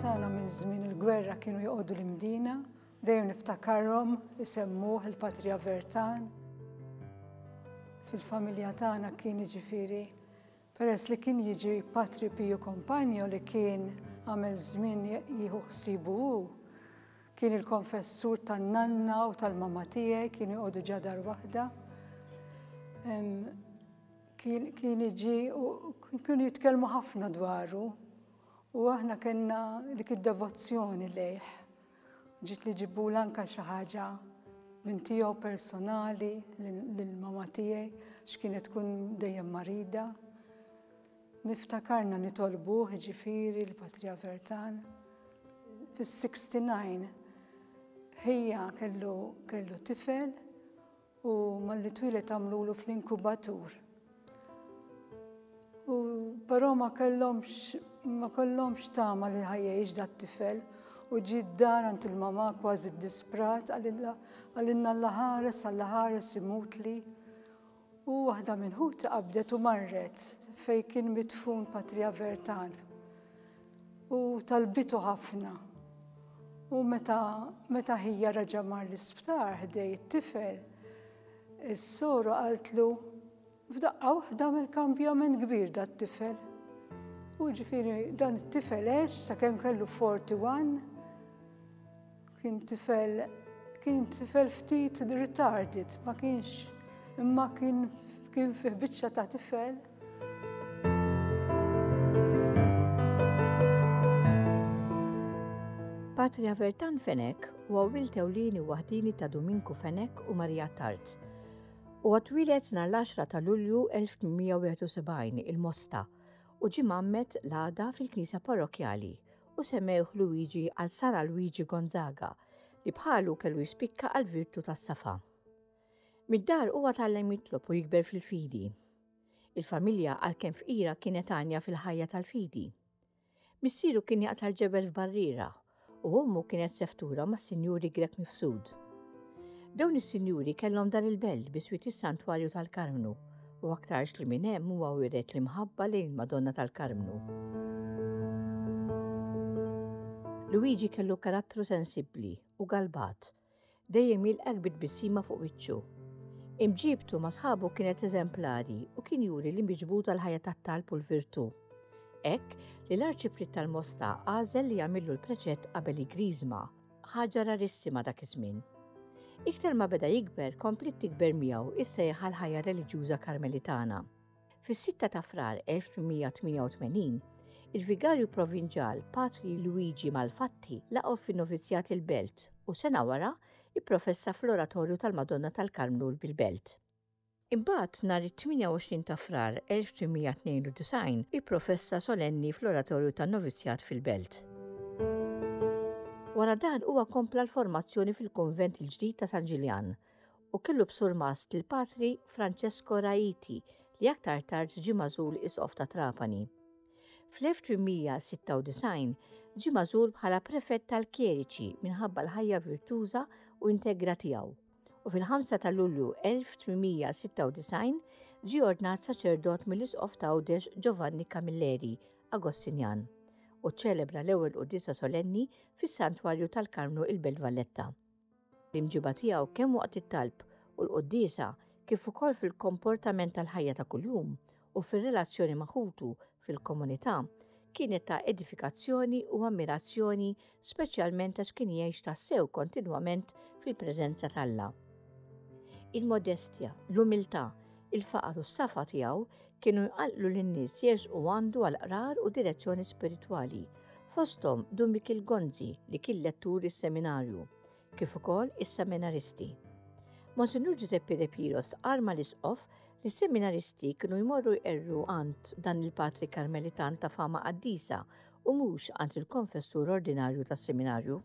tagħna minn żmien il-gwerra kienu joqogħdu l-Imdina, dejjem niftakarhom isemmuh il-Patri Avertan. Fil-familja tagħna kien jiġifieri peress li kien jiġi Patri Piju Compagno li kien għamel żmien jieħu ħsiebu hu, kien il-konfessur tan-nanna u tal-mama tiegħi, kienu joqogħdu ġa dar waħda. Kien kien jiġi u kienu jitkellmu ħafna dwaru u aħna kellna dik id-devozzjoni lejh. Ġiet li ġibula anka xi ħaġa minn tiegħu personali lill-mama tiegħi x'kienet tkun dejjem marida. Niftakarna nitolbuh ġifieri l-Patri Avertan. Fis-69 ħija kellu kellu tifel U malli twieled għamlulu fl-inkubatur. U però ma kellhomx ma kellhomx tama li ħajjejx dat-tifel u ġie d-dar għand il-mamà kważi ddisprat qalilna Alla ħares, Alla ħares imutli. U waħda minn ħuti qabdet u marret fejn kien midfun Patri Avertan. U talbitu ħafna. U meta meta ħija reġa' mar l-isptar ħdej it-tifel, is-soru qaltlu f'daqqa waħda għamel kambjament kbir dat-tifel. U ġifieri dan it-tifel għex sakemm kellu 41 kien tifel kien tifel ftit retarded, ma kienx imma kien kien fih biċċa ta' tifel. Patri Avertan Fenech huwa wild ewlieni u waħdini ta' Duminku Fenech u Maria Attard. Huwa twieled nhar l-10 ta' Lulju 1871 il-Mosta u ġie mgħammed l-għada fil-knisja parrokkjali u semmewh Luigi għal San Alwiġi Gonzaga li bħalu kellu jispikka għall-virtu tas-safa. Mid-dar huwa tgħallem jitlob u jikber fil-fidi. Il-familja għalkemm fqira kienet għanja fil-ħajja tal-fidi. Missieru kien jaqta' l-ġebel f'barriera u ommu kienet seftura mas-Sinjuri Grech Mifsud. Dawn is-sinjuri kellhom dar il-belt biswit is-Santwarju tal-Karmnu u aktarx li minn hemm huwa wiret l-imħabba lejn il-Madonna tal-Karmnu. Luigi kellu karattru sensibbli u galbat Dejjem jilqgħek bi tbissima fuq wiċċu. Imġiebtu ma' sħabu kienet eżemplari u kien juri li miġbud għall-ħajja tat-talb u l-virtù. Hekk li l-Arċipriet tal-Mosta għażel li jagħmillu l-preċett qabel il-Griżma, ħaġa rarissima dak iż-żmien. Iktar ma beda jikber kompliet tikber miegħu is-sejħa għall-ħajja reliġjuża Karmelitana. Fis-sitta ta' Frar 1888, il-Vigarju Provinġal Patri Luigi Malfatti laqgħu fin-Novizzjat il-Belt u sena wara ipprofessa fl-Oratorju tal-Madonna tal-Karmnu bil-Belt. Imbagħad nhar it-28 ta' Frar 1892 ipprofessa solenni fl-Oratorju tan-Novizzjat fil-Belt. Wara dan huwa kompla l-formazzjoni fil-Kunvent il-ġdid ta' San Ġiljan u kellu b'surmast lil Patri Francesco Raiti li aktar tard ġie magħżul Isqof ta' Trapani. Fl-1896 ġie magħżul bħala prefett tal-kjeriċi minħabba l-ħajja virtuża u integra tiegħu u fil-5 ta' Lulju 1896 ġie ordnat saċerdot mill-Isqof ta' Għawdex Giovanni Camilleri, Agostinjan, u ċċelebra l-ewwel quddiesa solenni fis-Santwarju tal-Karmnu il-Belt Valletta. L-imġiba tiegħu kemm waqt it-talb u l-quddiesa kif ukoll fil-komportament tal-ħajja ta' kuljum u fir-relazzjoni ma' ħutu fil-komunità kienet ta' edifikazzjoni u ammirazzjoni speċjalment għax kien jgħix tassew kontinwament fil-preżenza t'Alla. Il-modestja, l-umiltà, il-faqar u s-safa tiegħu kienu jqanqlu lin-nies jersqu għandu għal qrar u direzzjoni spiritwali, fosthom Dun Mikiel Gonzi li kien lettur is-seminarju, kif ukoll is-seminaristi. Monsinjur Giuseppe De Piro stqarr mal-Isqof li s-seminaristi kienu jmorru jqerru għand dan il-patri Karmelitan ta' fama qaddisa u mhux għand il-konfessur ordinarju tas-seminarju.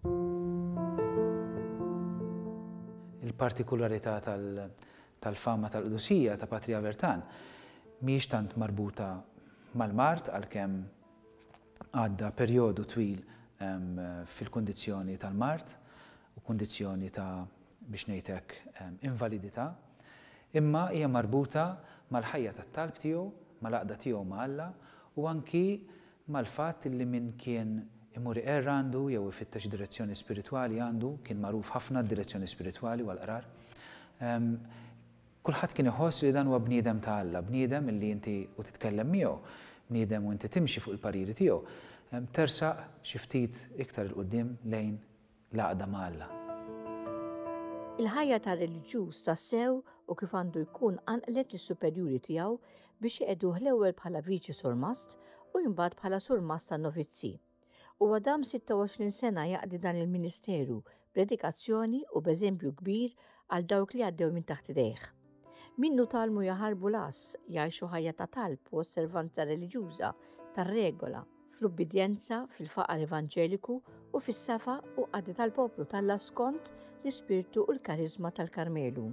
Il-partikularità tal-fama tal-qdusija ta' Patri Avertan mhijiex tant marbuta mal-mard għalkemm għadda perjodu twil fil-kundizzjoni tal-mard u kundizzjoni ta' biex ngħid hekk invalidità, imma hija marbuta mal-ħajja tat-talb tiegħu, mal-għaqda tiegħu ma' Alla u anki mal-fatt li min kien imur iqerr għandu jew ifittex direzzjoni spiritwali għandu, kien magħruf ħafna għad-direzzjoni spiritwali u għall-qrar. Kulħadd kien iħoss li dan huwa bniedem ta' Alla, bniedem illi inti u titkellem miegħu, bniedem u inti timxi fuq il-pariri tiegħu, tersaq xi ftit iktar 'il quddiem lejn l-għaqda ma' Alla. Il-ħajja ta' reliġjuż tassew u kif għandu jkun qanqlet lis-superjuri tiegħu biex iqegħduh l-ewwel bħala viċi surmast u imbagħad bħala surmast tan-novizzi. Huwa dam 26 sena jaqdi dan il-ministeru b'dedikazzjoni u b'eżempju kbir għal dawk li għaddew minn taħt idejh. Minnu tgħallmu jaħarbu l-għażż, jgħixu ħajja ta' talb u osservanza reliġjuża tar-regola, fl-ubbidjenza, fil-faqar evanġeliku u fis-safa u qadi tal-poplu t'Alla skont l-ispirtu u l-kariżma tal-Karmelu.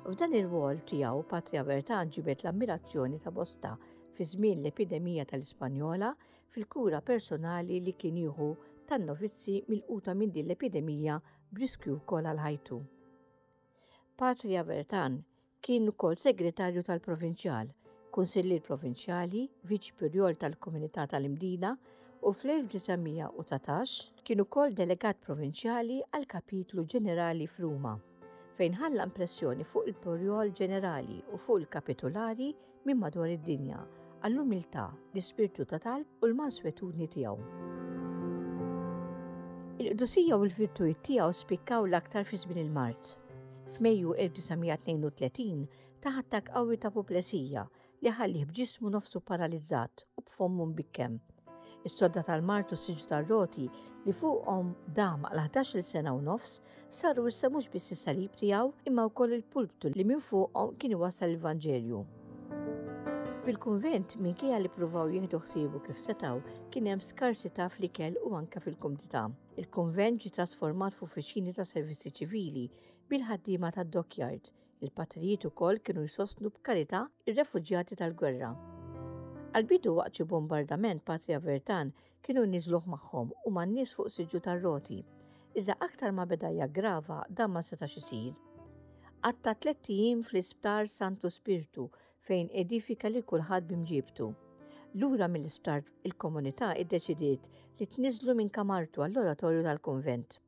F'dan ir-rwol tiegħu Patri Avertan ġibed l-ammirazzjoni ta' bosta fi żmien l-epidemija tal-Ispanjola fil-kura personali li kien jieħu tan-novizzi milquta minn din l-epidemija b'riskju wkoll għal ħajtu. Patri Avertan kien ukoll segretarju tal-Provinċjal, kunsillier provinċjali, viċi pirjol tal-Komunità tal-Imdina u fl-1919 kien ukoll delegat provinċjali għall-Kapitlu Ġenerali f'Ruma, fejn ħalla impressjoni fuq il-Pirjol Ġenerali u fuq il-Kapitulari minn madwar id-dinja għall-umiltà, l-ispirtu ta' talb u l-manswetudni tiegħu. Il-qdusija u l-virtujiet tiegħu spikkaw l-aktar fi żmien il-mard. F'Mejju 1932 tah attakk qawwi ta' puplesija li ħallih b'ġismu nofsu paralizzat u b'fommu mbikkem. Is-sodda tal-mard u s-siġġu tar-roti li fuqhom dam għal ħdax-il sena u nofs saru issa mhux biss is-salib tiegħu imma wkoll il-pulptu li minn fuqhom kien iwassal il-Vanġelju. Fil-kunvent, minkejja li ppruvaw jieħdu ħsiebu kif setgħu, kien hemm skarsità fl-ikel u anke fil-kumdità. Il-kunvent ġie trasformat f'uffiċini ta' servizzi ċivili bil-ħaddiema tad-dockyard Il-patrijiet ukoll kienu jsostnu b'karità r-refuġjati tal-gwerra. Għall-bidu waqt xi bombardament Patri Avertan kienu jniżżluh magħhom u man-nies fuq siġġu tar-roti. Iżda aktar ma beda jaggrava dan ma setax isir. Qatta' tlett ijiem fl-isptar Santu Spirtu fejn edifika lil kulħadd b'imġiebtu. Lura mill-isptar il-komunità iddeċidiet li tniżżlu minn kamartu għall-oratorju tal-kunvent.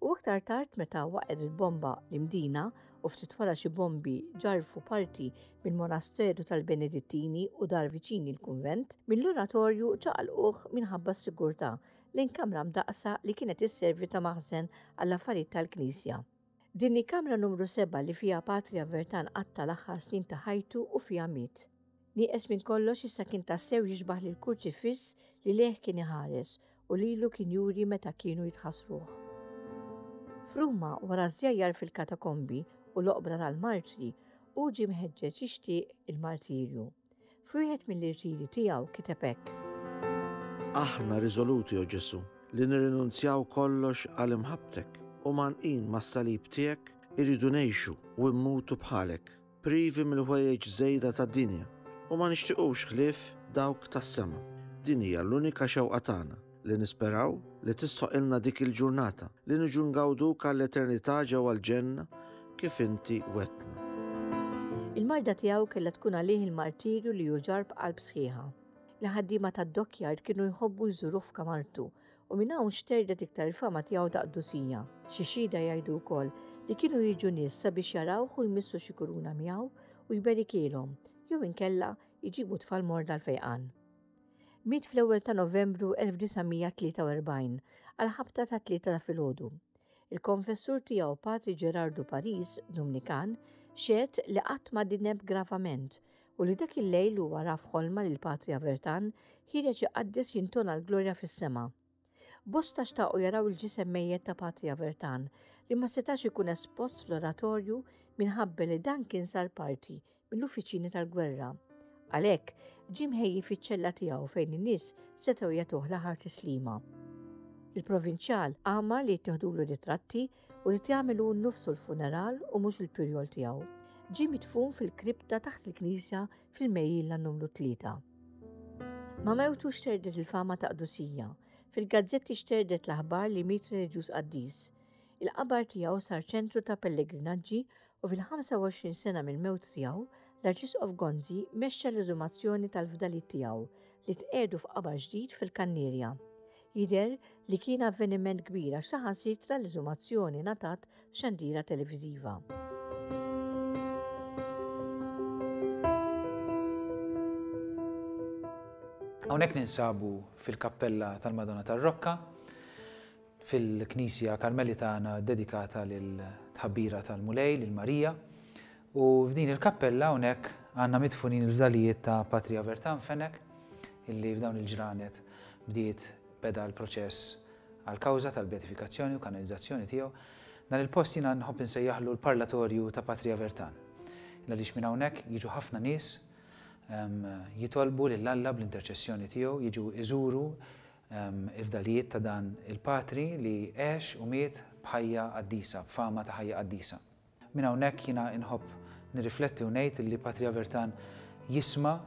U aktar tard meta waqgħet il-bomba l-Imdina u ftit wara xi bombi ġarrfu parti mill-monasteru tal-Benedittini u dar viċin il-kunvent, mill-oratorju ċaqalquh minħabba s-sigurtà lejn kamra mdaqqsa li kienet isservi ta' maħżen għall-affarijiet tal-knisja. Din hi kamra numru sebgħa li fiha Patri Avertan qatta' l-aħħar snin ta' ħajtu u fiha miet. Nieqes minn kollox issa kien tassew jixbah lill-kurċifiss li lejh kien iħares u lilu kien juri meta kienu jitħassruh. F'Ruma, wara ż-żjajjar fil-katakombi u l-oqbra tal-martri, hu ġie mħeġġeġ jixtieq il-martirju. F'wieħed mill-irtiri tiegħu kiteb hekk. Aħna riżoluti, o Ġesù, li nirrinunzjaw kollox għal imħabbtek, u mgħannqin mas-salib tiegħek irridu ngħixu u mmutu bħalek. privi mill-ħwejjeġ żejda tad-dinja, u ma nixtiqux ħlief dawk tas-sema. Din hija l-unika xewqa tagħna, li nisperaw li tistħoqilna dik il-ġurnata li niġu ngawduk għall-eternità ġewwa l-ġenna kif inti wegħdtna. Il-marda tiegħu kellha tkun għalih il-martirju li hu ġarr b'qalb sħiħa. Il-ħaddiema tad-dockyard kienu jħobbu jżuruh f'kamartu u minn hawn xterdet iktar il-fama tiegħu ta' qdusija. Xi xhieda jgħidu wkoll li kienu jiġu nies sabiex jarawh u jmissu xi kuruna miegħu u jberikielhom, jew inkella jġibu tfal morda l-fejqan. Miet fl-ewwel ta' Novembru 1943 għall-ħabta tat-tlieta ta' filgħodu. Il-konfessur tiegħu Patri Ġerardu Paris, Dumnikan, xehed li qatt ma dineb gravament u li dak il-lejl huwa ra f'ħolma lil Patri Avertan ħiereġ iqaddes jintona l-glorja fis-sema. Bosta xtaqu jaraw il-ġisem mejjet ta' Patri Avertan li ma setax ikun espost fl-oratorju minħabba li dan kien sar parti mill-uffiċini tal-gwerra. Għalhekk, ġie mħejji fiċ-ċella tiegħu fejn in-nies setgħu jagħtuh l-aħħar tislima. Il-provinċjal amar li jittieħdulu ritratti u li jagħmel hu nnifsu l-funeral u mhux il-pirjol tiegħu. Ġie midfun fil-kripta taħt il-knisja fil-Mejjilla numru 3. Ma' mewtu xterdet il-fama ta' qdusija. Fil-gazzetti xterdet l-aħbar li miet reliġjuż qaddis. Il-qabar tiegħu sar ċentru ta' pellegrinaġġi u fil-25 sena mill-mewt tiegħu, l-Arċisqof Gonzi mexxa l-eżumazzjoni tal-fdalijiet tiegħu li tqiegħdu f'qabar ġdid fil-Kannierja. Jidher li kien avveniment kbir għax saħansitra l-eżumazzjoni ngħatat f'xandira televiżiva. Hawnhekk ninsabu fil-kappella tal-Madonna tar-Rokka, fil-knisja Karmelitana ddedikata lil-tħabbira tal-Mulej, lil Marija. U f'din il-kappella hawnhekk għandna midfunin il-fdalijiet ta' Patri Avertan Fenech, illi f'dawn il-ġranet bdiet beda l-proċess għall-kawża tal-beatifikazzjoni u kanonizzazzjoni tiegħu. Dan il-post jiena nħobb insejjaħlu l-parlatorju ta' Patri Avertan. Għaliex minn hawnhekk jiġu ħafna nies jitolbu lil Alla bl-interċessjoni tiegħu, jiġu iżuru il-fdalijiet ta' dan il-patri li għex u miet b'ħajja qaddisa, b'fama ta' ħajja qaddisa. Minn hawnhekk jiena inħobb nirrifletti u ngħid li Patri Avertan jisma'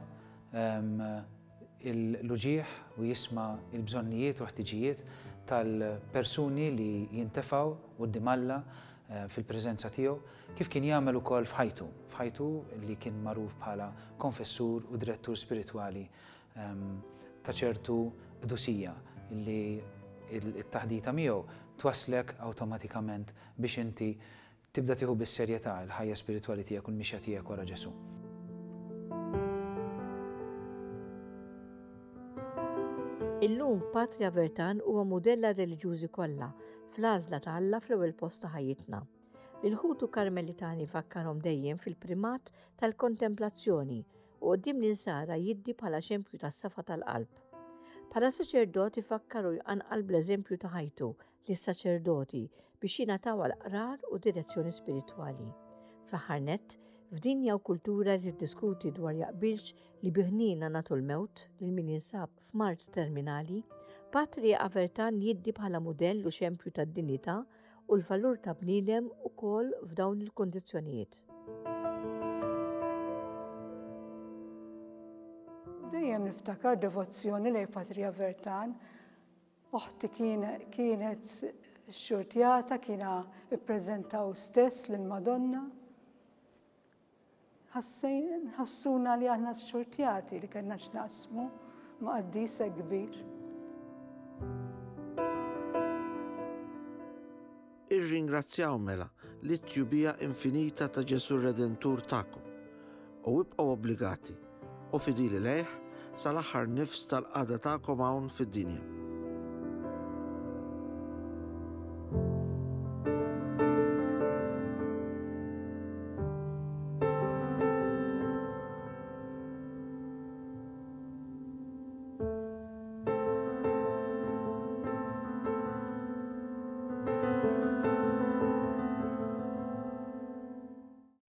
l-uġigħ u jisma' l-bżonnijiet u l-ħtiġijiet tal-persuni li jintefgħu quddiem Alla fil-preżenza tiegħu, kif kien jagħmel ukoll f'ħajtu, f'ħajtu li kien magħruf bħala konfessur u direttur spiritwali ta' ċertu qdusija li t-taħdita miegħu twasslek awtomatikament biex inti tibda tieħu bis-serjetà l-ħajja spiritwali tiegħek u l-mixja tiegħek wara Ġesù. Illum Patri Avertan huwa mudell għar-reliġjużi kollha fl-għażla ta' Alla fl-ewwel post ta' ħajjitna. Lil ħutu Karmelitani fakkarhom dejjem fil-primat tal-kontemplazzjoni u quddiem l-insara jiddi bħala xempju tas-safa tal-qalb. Bħala saċerdot ifakkar u jqanqal bl-eżempju ta' ħajtu lis-saċerdoti biex jingħataw għall-qrar u direzzjoni spiritwali. Fl-aħħar nett, f'dinja u kultura li tiddiskuti dwar jaqbilx li bi ħniena nagħtu l-mewt lil min jinsab f'mard terminali, Patri Avertan jiddi bħala mudell u xempju tad-dinjità u l-valur ta' bniedem ukoll f'dawn il-kundizzjonijiet. Dejjem niftakar devozzjoni lejn Patri Avertan. Oħti kienet xxurtjata, kiena ippreżentaw stess lill-Madonna. Ħassuna li aħna xxurtjati li kellna x'naqsmu ma' qaddis hekk kbir. Irringrazzjaw mela lit-tjubija infinita ta' Ġesù r-Redentur tagħkom, u ibqgħu obbligati u fidili lejh sal-aħħar nifs tal-qagħda tagħkom hawn fid-dinja.